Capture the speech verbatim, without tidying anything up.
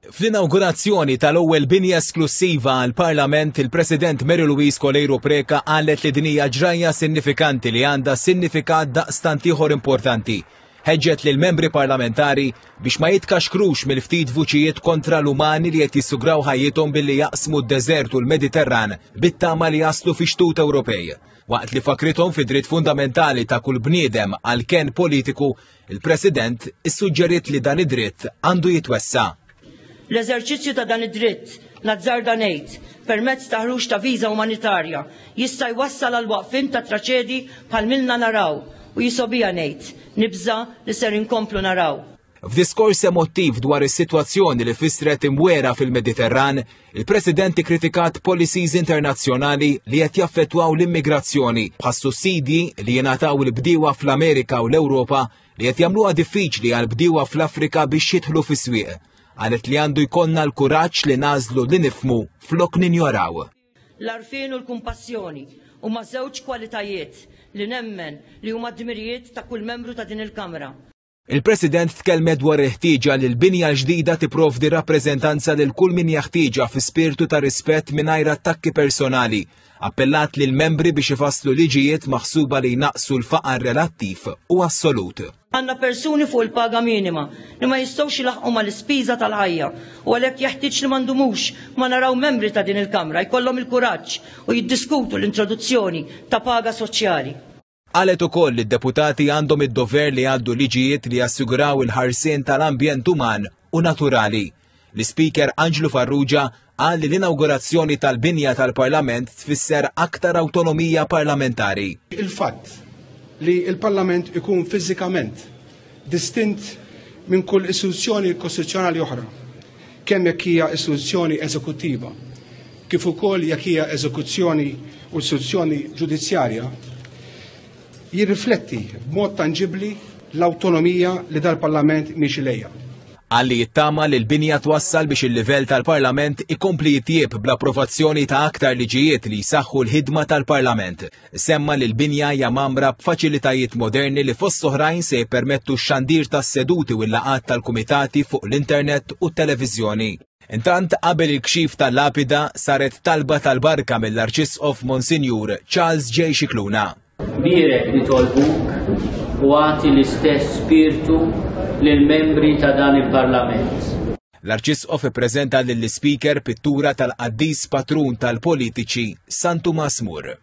Fl-inawgurazzjoni tal-ewwel binja esklussiva għall-Parlament, il-President Mary Louise Coleiro Preca qalet li din hija ġrajja sinifikanti li għandha sinifikat daqstant ieħor importanti. Ħeġġet lil membri parlamentari biex ma jitkaxkrux mill-ftit vuċijiet kontra l-umani li qed jissugraw ħajjithom billi jaqsmu d-deżert u l-Mediterran bit-tama li jaslu fi xtut Ewropej. Waqt li fakrithom fi dritt fundamentali ta' kull bniedem għal ken politiku, il-President issuġġeriet li dan id-dritt għandu jitwessa'. L-eżerċizzju ta' dan id-dritt, nazzarda ngħid, permezz ta' ħruġ ta' viża umanitarja, jista' jwassal għal waqfien ta' traċedji bħal milna naraw u jisobija ngħid, nibża li ser inkomplu naraw. F'diskors emottiv dwar is-sitwazzjoni li fissret imwera fil-Mediterran, il-President ikkritikat policies internazzjonali li qed jaffettwaw l-immigrazzjoni bħas sussidji li jingħataw il-bdiewa fl-Amerika u l-Ewropa li qed jagħmluha diffiċli għal bdiewa fl-Afrika biex jidħlu fis-swieq. Qalet li għandu jkollna l-kuraġġ li nagħżlu li nifhmu flok ninjoraw. L-għarfien u l-kumpassjoni huma żewġ kwalitajiet li nemmen li huma dmirijiet ta' kull membru ta' din il-Kamra. Il-President tkellmet dwar il-ħtieġa li l-binja l-ġdida tipprovdi rappreżentanza lil kull min jaħtieġa fi spirtu ta' rispett mingħajr attakki personali. Appellat lil membri biex ifasslu liġijiet maħsuba li jnaqsu l-faqar relattiv u assolut. Għandna persuni fuq il-paga minima li ma jistgħux ilaħqu mal-ispiża tal-ħajja u għalhekk jeħtieġ li ma ndumux ma naraw membri ta' din il-Kamra jkollhom il-kuraġġ u jiddiskutu l-introduzzjoni ta' paga soċjali. Qalet ukoll li d-deputati għandhom id-dover li għaddu liġijiet li jassiguraw il-ħarsien tal-ambjent uman u naturali. L-Ispeaker Anġlu Farrugia qal li l-inawgurazzjoni tal-binja tal-Parlament tfisser aktar awtonomija parlamentari. Il-fatt li il-Parlament ikun fiżikament distint minn kull istituzzjoni kostituzzjonali oħra, kemm jekk hija istituzzjoni eżekuttiva, kif ukoll jekk hija eżekuzzjoni u istituzzjoni ġudizzjarja, jirrifletti b'mod tanġibli l-awtonomija li dal-Parlament miexi lejha. Qal li jittama li l-binja twassal biex il-livell tal-Parlament ikompli jitjieb bl-approvazzjoni ta' aktar liġijiet li jsaħħu l-ħidma tal-Parlament. Semma li l-binja hija mgħammra b'faċilitajiet moderni li fost oħrajn se jippermettu x-xandir tas-seduti u l-laqgħat tal-kumitati fuq l-internet u t-televiżjoni. Intant qabel il-kxif tal-lapida saret talba tal-barka mill-Arċisqof Monsinjur Charles J. Scicluna. Bierek nitolbuk u agħti l-istess spirtu lill-membri ta' dan il-Parlament. L-Arċisqof ippreżenta lill-Ispeaker pittura tal-qaddis patrun tal-politiċi San Tumas More.